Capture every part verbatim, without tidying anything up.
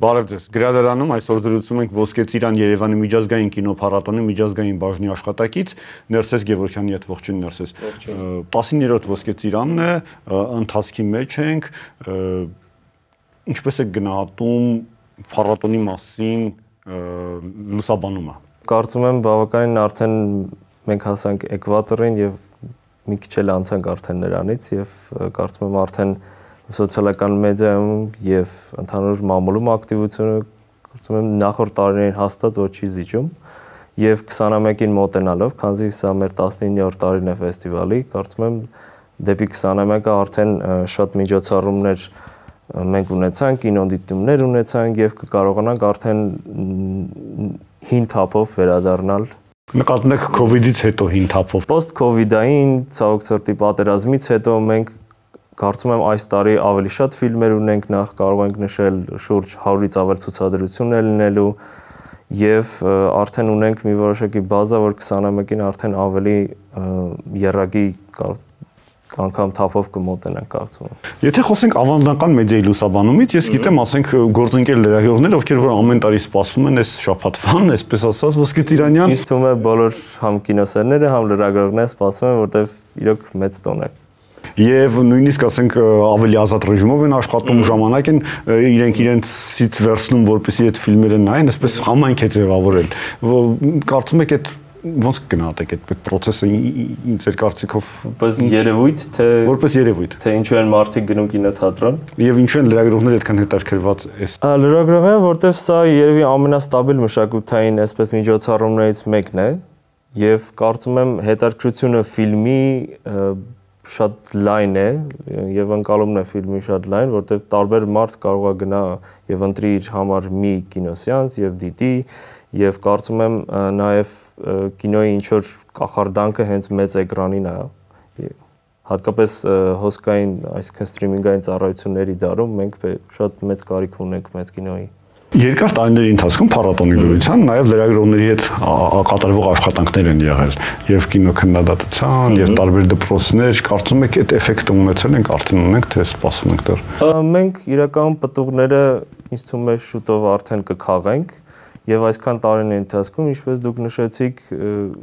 Բարև ձեզ։ Գրադարանում այսօր զրուցում ենք Ոսկե ծիրան Երևանի միջազգային կինոփառատոնի միջազգային բաժնի աշխատակից Ներսես Գևորգյանի հետ ողջույն Ներսես։ տասիններորդ Ոսկե ծիրանն է, ընթացքի մեջ ենք, ինչպես է գնահատում փառատոնի մասին լուսաբանումը։ Կարծում եմ բավականին արդեն մենք հասանք էկվատորին եւ մի քիչ էլ անցանք արդեն նրանից եւ կարծում եմ արդեն սոցիալական մեդիայում եւ ընդհանուր մամուլում ակտիվությունը կարծում եմ նախորդ տարիներին հաստատ ոչ չի զիջում եւ քսանամյակին մոտենալով, քանզի սա մեր տասնիններորդ տարին է ֆեստիվալի, կարծում եմ դեպի քսանամյակը արդեն շատ միջոցառումներ մենք ունեցանք, կինոդիտումներ ունեցանք եւ կկարողանանք արդեն հին թափով վերադառնալ։ Նկատում եք քովիդից հետո հին թափով։ Post-COVID-ային ցավոք սրտի պատերազմից հետո մենք կարծում եմ այս տարի ավելի շատ ֆիլմեր ունենք, նախ կարող ենք նշել շուրջ հարյուրից ավել ցուցադրություններ լինելու եւ արդեն ունենք մի որոշակի բազա, որ քսանամյակին արդեն ավելի եռագի անգամ թափով կմոտենանք կարծում եմ։ Եթե խոսենք ավանդական մեդիայի լուսաբանումից, ես գիտեմ, ասենք գործընկեր լրագրողներ, ովքեր որ ամեն տարի սպասում են այս շաբաթվան, այսպես ասած, Ոսկե ծիրանյան։ Ինձ թվում է բոլոր համ կինոսերները, համ լրագրողները սպասում են, որտեվ իրոք մեծ տոն է։ Եվ նույնիսկ ասենք ավելի ազատ ռեժիմով են աշխատում, ժամանակ են իրենք իրենցից վերցնում, որպեսզի այդ ֆիլմերը նայեն, այսպես համայնք է ձևավորել։ Կարծում եք այդ ոնց կգնահատեք այդ process-ը ձեր կարծիքով որպես երևույթ, թե որպես երևույթ, թե ինչու են մարդիկ գնում կինոթատրոն եւ ինչու են լրագրողները այդքան հետաքրքրված այս լրագրողները, որտեվ սա երևի ամենաստաբիլ մշակութային այսպես միջոցառումներից մեկն է եւ կարծում եմ հետաքրքրությունը ֆիլմի շատ լայն է եւ ընկալումն է ֆիլմի շատ լայն, որտեղ տարբեր մարդ կարող է գնա եւ ընտրի իր համար մի կինոսեանս եւ դիտի եւ կարծում եմ նաեւ կինոյի ինչ որ կախարդանքը հենց մեծ էկրանին է։ Հատկապես հոսքային, այսինքն սթրիմինգային ծառայությունների դարում մենք շատ մեծ կարիք ունենք մեծ կինոյի։ Երկար տարիների ընթացքում փառատոնի դրության նաև լրագրողների հետ կատարվող աշխատանքներ են եղել եւ կինոքննադատության եւ տարբեր դպրոցներ, կարծում եք այդ էֆեկտը ունեցել ենք, արդեն ունենք, թե սպասում ենք դեռ։ Մենք իրական պտուղները ինձ թվում է շուտով արդեն կքաղենք եւ այսքան տարիների ընթացքում, ինչպես դուք նշեցիք,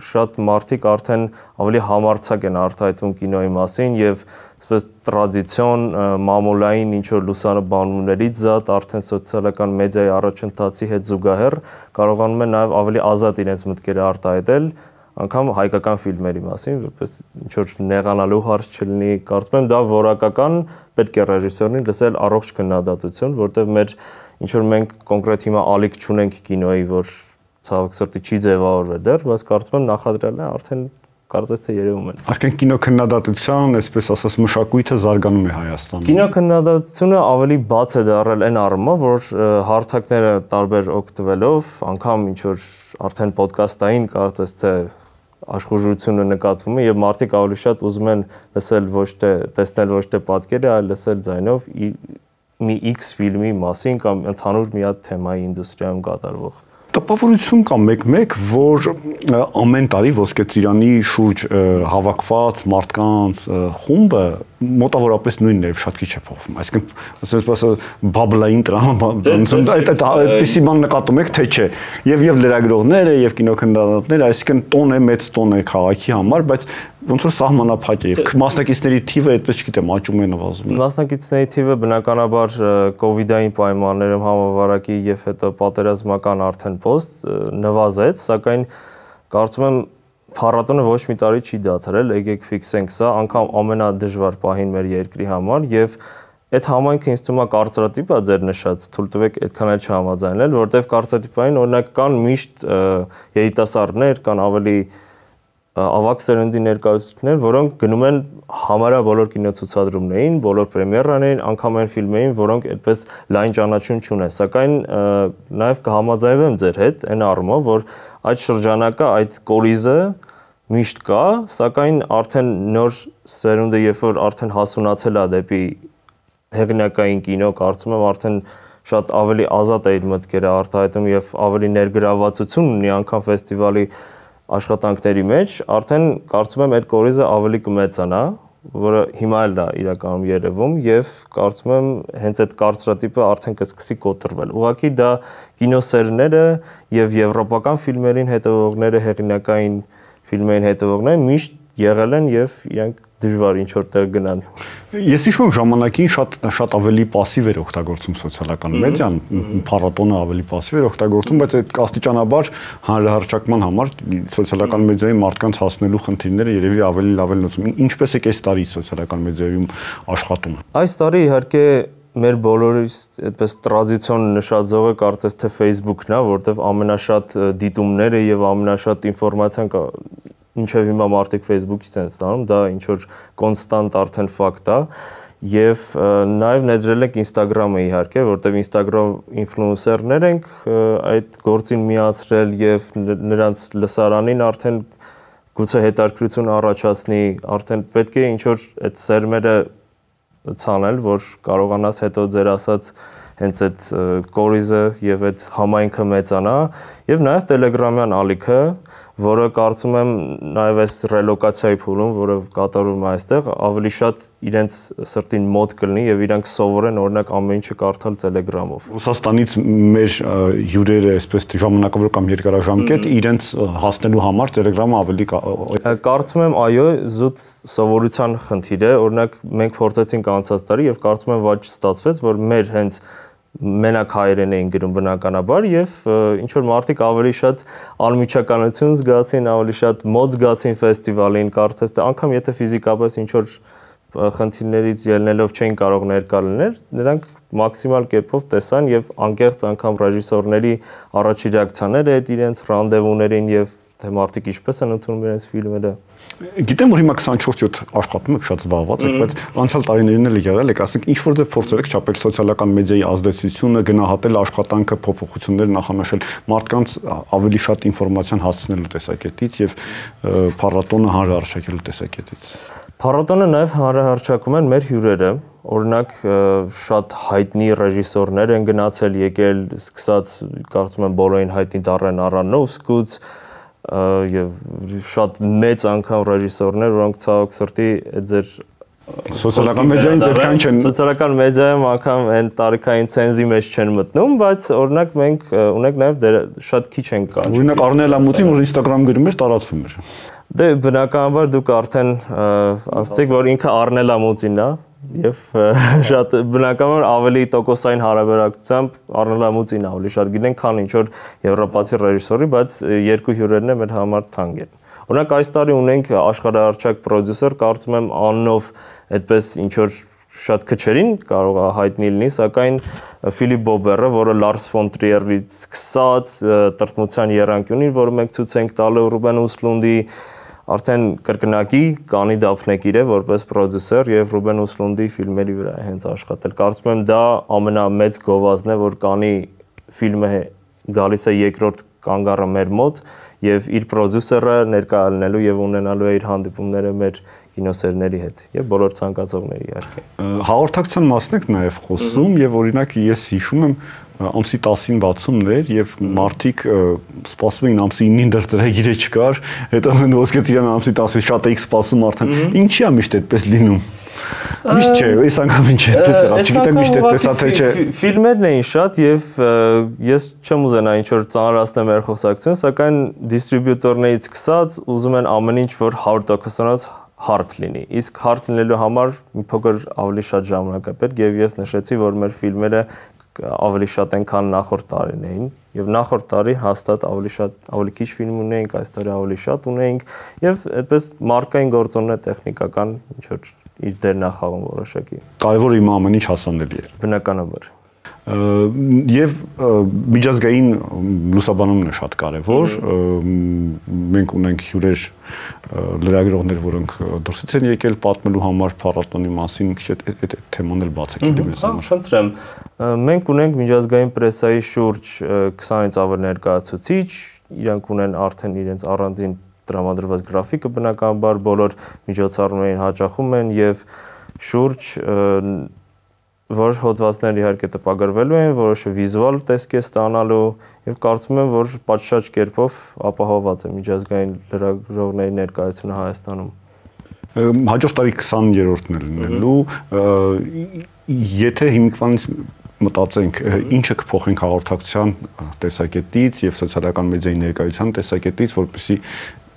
շատ մարդիկ արդեն ավելի համարձակ են արտահայտվում կինոյի մասին եւ այսպես տրադիցիոն մամուլային ինչ որ լուսաբանումներից զատ արդեն սոցիալական մեդիայի առաջընթացի հետ զուգահեռ կարողանում են նաև ավելի ազատ իրենց մտքերը արտահայտել, անգամ հայկական ֆիլմերի մասին, որպես ինչ որ նեղանալու հարց չլինի, կարծում եմ դա որակական պետք է ռեժիսորին լսել առողջ քննադատություն, որտեղ մեր ինչ որ մենք կոնկրետ հիմա ալիք չունենք կինոյի, որ ցավոք սրտի չի ձևավորվել դեռ, բայց կարծում եմ նախադրյալն է արդեն կարծես թե երևում են։ Այսինքն կինոքննադատության, այսպես ասած, մշակույթը զարգանում է Հայաստանում։ Կինոքննադատությունը ավելի բաց է դարձել այն առումով, որ հարթակները տարբեր օգտվելով, անգամ ինչ որ արդեն ոդկասթային կարծես թե աշխուժությունը նկատվում է եւ մարդիկ ավելի շատ ուզում են լսել ոչ թե տեսնել ոչ թե պատկերը, այլ լսել ձայնով մի X ֆիլմի մասին կամ ընդհանուր մի հատ թեմայի ինդուստրիայում կատարվող։ Տպավորություն կա մեկ-մեկ, որ ամեն տարի Ոսկե ծիրանի շուրջ հավաքված մարդկանց խումբը մոտավորապես նույնն է, շատ քիչ է փոխվում։ Այսինքն, ասես բաբլային տրամա, այդ այդպիսի բան նկատում եք, թե չէ։ Եվ եւ լրագրողները, եւ կինոքննադատները, այսինքն տոն է, մեծ տոն է քաղաքի համար, բայց ոնց որ սահմանափակ է եւ մասնակիցների թիվը այդպես չգիտեմ, աճում է նվազում։ Մասնակիցների թիվը բնականաբար կովիդային պայմաններում համավարակի եւ հետո պատերազմական արդեն post նվազեց, սակայն կարծում եմ փառատոնը ոչ մի տարի չի դադարել, եկեք ֆիքսենք սա, անգամ ամենադժվար պահին մեր երկրի համար եւ այդ համայնքը ինձ թվում է կարծրատիպ է ձեր նշած, թույլ տվեք այդքան էլ չհամաձայնել, որտեվ կարծրատիպային օրինակ կան միշտ երիտասարդներ, կան ավելի ավակ սերնդի ներկայացուցիչներ, որոնք գնում են համարյա բոլոր կինոցուցադրումներին, բոլոր պրեմիերաներին, անգամ այն ֆիլմերին, որոնք այդպես լայն ճանաչում չունեն, սակայն նաև կհամաձայնվեմ ձեր հետ այն առումով, որ այդ շրջանակը, այդ կորիզը միշտ կա, սակայն արդեն նոր սերունդը, երբ որ արդեն հասունացել է դեպի հեղինակային կինո, կարծում եմ արդեն շատ ավելի ազատ է իր մտքերը արտահայտում եւ ավելի ներգրավվածություն ունի անգամ ֆեստիվալի աշխատանքների մեջ, արդեն կարծում եմ այդ կորիզը ավելի կմեծանա որը հիմա էլ դա իրականում երևում եւ կարծում եմ հենց այդ կարծրատիպը արդեն կսկսի կոտրվել։ Ուղղակի դա կինոսերները եւ եվրոպական ֆիլմերին հետևողները, հեղինակային ֆիլմերին հետևողները միշտ եղել են եւ իրանք դժվար ինչ որտեղ գնան։ Ես հիշում եմ ժամանակին շատ շատ ավելի пассив էր օգտագործում սոցիալական մեդիան, փառատոնը ավելի пассив էր օգտագործում, բայց այդ աստիճանաբար հանրահռչակման համար սոցիալական մեդիայի մարդկանց հասնելու խնդիրները երևի ավելի լավ են լուծում։ Ինչպես է այս տարի սոցիալական մեդիայում աշխատում։ Այս տարի իհարկե մեր բոլորիս այդպես տրադիցիոն նշաձողը կարծես թե Facebook-ն է, որտեղ ամենաշատ դիտումները եւ ամենաշատ ինֆորմացիան ինչև հիմա մարդիկ Facebook-ից են ստանում, դա ինչ որ կոնստանտ արդեն ֆակտ է եւ նաեւ ներդրել ենք Instagram-ը իհարկե, որտեղ Instagram ինֆլուենսերներ ենք այդ գործին միացրել եւ նրանց լսարանին արդեն գուցե հետաքրքրություն առաջացնի, արդեն պետք է ինչ որ այդ սերմերը ցանել, որ կարողանաս հետո ձեր ասած հենց այդ կորիզը եւ այդ համայնքը մեծանա եւ նաեւ Telegram-յան ալիքը, որը կարծում եմ նաեւ այս ռելոկացիայի փուլում, որը կատարվում է այստեղ, ավելի շատ իրենց սրտին մոտ կլինի եւ իրանք սովորեն օրինակ ամեն ինչը կարդալ Telegram-ով։ Ռուսաստանից մեր հյուրերը, այսպես ժամանակավոր կամ երկարաժամկետ, իրենց հասնելու համար Telegram-ը ավելի կարծում եմ այո, զուտ սովորության խնդիր է, օրինակ մենք փորձեցինք անցած տարի եւ կարծում եմ ոչ ստացվեց, որ մեր հենց մենակ հայերեն էին գրում բնականաբար եւ ինչ որ մարդիկ ավելի շատ անմիջականություն զգացին, ավելի շատ մոտ զգացին ֆեստիվալին, կարծես թե անգամ եթե ֆիզիկապես ինչ որ խնդիրներից ելնելով չէին կարող ներկա լինել, նրանք մաքսիմալ կերպով տեսան եւ անկեղծ անգամ ռեժիսորների առաջի ռեակցիաները այդ իրենց ռանդևուներին եւ թե մարդիկ ինչպես են ընդունում իրենց ֆիլմերը։ Գիտեմ, որ հիմա քսանչորս յոթ աշխատում եք, շատ զբաղված եք, բայց անցյալ տարիներին էլ եղել եք, ասենք ինչ որ ձև փորձել եք չափել սոցիալական մեդիայի ազդեցությունը, գնահատել աշխատանքը, փոփոխություններ նախանշել, մարդկանց ավելի շատ ինֆորմացիան հասցնելու տեսակետից եւ փառատոնը հանրահռչակելու տեսակետից։ Փառատոնը նաեւ հանրահռչակում են մեր հյուրերը, օրինակ շատ հայտնի ռեժիսորներ են գնացել, եկել, սկսած կարծում եմ բոլորին հայտնի Դարեն Արոնոֆսկուց եւ շատ մեծ անգամ ռեժիսորներ, որոնք ցավոք սրտի ձեր սոցիալական մեդիային ձերքան չեն սոցիալական մեդիայում անգամ այն տարիքային ցենզի մեջ չեն մտնում, բայց օրինակ մենք ունենք նաեւ շատ քիչ են կանչ։ Օրինակ Արնել Ամուտին, որ Instagram գրում էր, տարածվում էր։ Դե բնականաբար դուք արդեն ասացիք, որ ինքը Արնել Ամուտին է եւ շատ բնականաբար ավելի տոկոսային հարաբերակցությամբ Արնել Ամուտին ավելի շատ գիտեն, քան ինչ որ եվրոպացի ռեժիսորի, բայց երկու հյուրերն են մեր համար թանկ են։ Օրինակ այս տարի ունենք աշխարհահռչակ պրոդյուսեր, կարծում եմ անունով այդպես ինչ որ շատ քչերին կարող է հայտնի լինի, սակայն Ֆիլիպ Բոբերը, որը Լարս ֆոն Տրիերից սկսած տրտմության եռանկյունին, որը մենք ցույց ենք տալու Ռուբեն Ուսլունդի արդեն կրկնակի Կանի դափնեկիր է որպես պրոդյուսեր եւ Ռուբեն Ուսլունդի ֆիլմերի վրա է հենց աշխատել։ Կարծում եմ դա ամենամեծ գովազդն է, որ Կանի ֆիլմը գալիս է երկրորդ կանգառը մեր մոտ եւ իր պրոդյուսերը ներկա լինելու եւ ունենալու է իր հանդիպումները մեր կինոսերների հետ եւ բոլոր ցանկացողների իհարկե։ Հաղորդակցության մասն եք նաեւ խոսում եւ օրինակ ես հիշում եմ ամսի տասին բացումներ եւ մարդիկ սպասում էին ամսի ինին դեռ ծրագիրը չկար, հետո ոսկե ծիրան ամսի տասին շատ էիք սպասում արդեն։ Ինչի՞ է միշտ այդպես լինում։ Միշտ չէ, այս անգամ ինչ է այդպես եղավ, չգիտեմ միշտ այդպես է թե չէ։ Ֆիլմերն էին շատ եւ ես չեմ ուզենա ինչ որ ծանրացնեմ մեր խոսակցությունը, սակայն դիստրիբյուտորներից սկսած ուզում են ամեն ինչ որ հարյուր տոկոսանոց հարթ լինի։ Իսկ հարթ լինելու համար մի փոքր ավելի շատ ժամանակ է պետք եւ ես նշեցի, որ մեր ֆիլմերը ավելի շատ են, քան նախորդ տարիներին եւ նախորդ տարի հաստատ ավելի շատ ավելի քիչ ֆիլմ ունեինք, այս տարի ավելի շատ ունեինք եւ այդպես մարկային գործոններ տեխնիկական ինչ որ իր դերն է խաղում որոշակի։ Կարևորը իմ ամեն ինչ հասանելի է։ Բնականաբար։ Եվ միջազգային լուսաբանումն է շատ կարևոր, մենք ունենք հյուրեր լրագրողներ, որոնք դրսից են եկել պատմելու համար փառատոնի մասին, քիչ այդ թեման էլ բացեք դեպի մեզ համար։ Խնդրեմ, մենք ունենք միջազգային պրեսայի շուրջ քսանից ավել ներկայացուցիչ, իրանք ունեն արդեն իրենց առանձին տրամադրված գրաֆիկը, բնականաբար բոլոր միջոցառումներին հաճախում են եւ շուրջ որոշ հոդվածներ իհարկե տպագրվելու են, որոշը վիզուալ տեսք է ստանալու եւ կարծում եմ, որ պատշաճ կերպով ապահովված է միջազգային լրագրողների ներկայությունը Հայաստանում։ Հաջորդ տարի քսաներորդն է լինելու, եթե հիմիկվանից մտածենք, ինչը կփոխենք հաղորդակցության տեսակետից եւ սոցիալական մեդիայի ներկայության տեսակետից, որպեսզի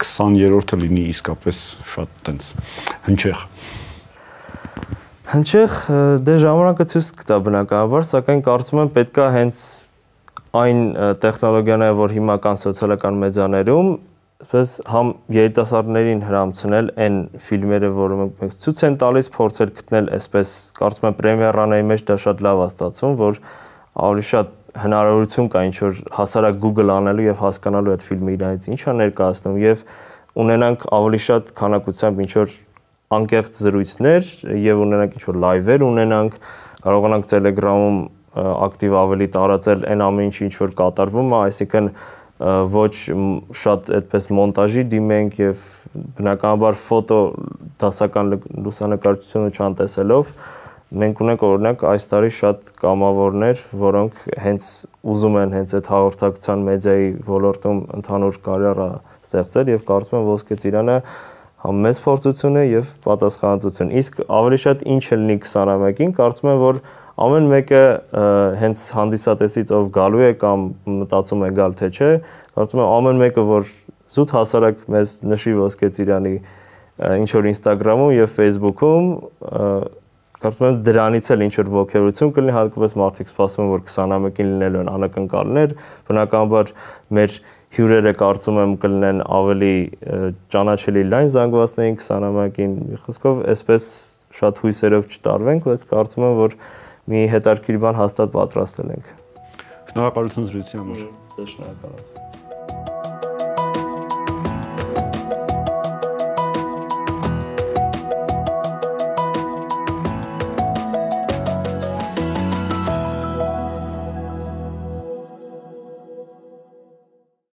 քսաներորդը լինի իսկապես շատ տենց հնչեղ։ Հնչեղ դե ժամանակը ցույց կտա բնականաբար, սակայն կարծում եմ պետքա հենց այն տեխնոլոգիաները, որ հիմա կան սոցիալական մեդիաներում, այսպես համ երիտասարդներին հրամցնել այն ֆիլմերը, որը մենք ցույց են տալիս, փորձել գտնել այսպես, կարծում եմ պրեմիերաների մեջ դա շատ լավ է ստացվում, որ ավելի շատ հնարավորություն կա ինչ որ հասարակ Google անելու եւ հասկանալու այդ ֆիլմը իրանից ինչ է ներկայացնում եւ ունենանք ավելի շատ քանակությամբ ինչ որ անկեղծ զրույցներ եւ ունենանք ինչ որ լայվեր ունենանք, կարողանանք Telegram-ում ակտիվ ավելի տարածել այն ամեն ինչը ինչ որ կատարվում է, այսինքն ոչ շատ այդպես մոնտաժի դիմենք եւ բնականաբար ֆոտո դասական լուսանկարչությունը չանտեսելով մենք ունենք օրինակ այս տարի շատ կամավորներ, որոնք հենց ուզում են հենց այդ հաղորդակցության մեդիայի ոլորտում ընդհանուր կարիերա ստեղծել եւ կարծում եմ Ոսկե ծիրանը համ մեծ փորձություն է եւ պատասխանատվություն։ Իսկ ավելի շատ ինչ է լինի քսաներկուին, կարծում եմ որ ամեն մեկը հենց հանդիսատեսից ով գալու է կամ մտածում է գալ թե չէ, կարծում եմ ամեն մեկը որ զուտ հասարակ մեզ նշի Ոսկե ծիրանի ինչ որ Instagram-ում եւ Facebook-ում, կարծում եմ դրանից էլ ինչ որ ողջերություն կլինի, հատկապես մարդիկ սպասում են որ քսաներկուին լինելու են անակնկալներ, բնականաբար մեր հյուրերը կարծում եմ կլինեն ավելի ճանաչելի լայն զանգվածներին քսաներկուին, մի խոսքով այսպես շատ հույսերով չտարվենք, բայց կարծում եմ որ մի հետաքրքիր բան հաստատ պատրաստել ենք։ Շնորհակալություն զրույցի համար։ Շնորհակալ եմ։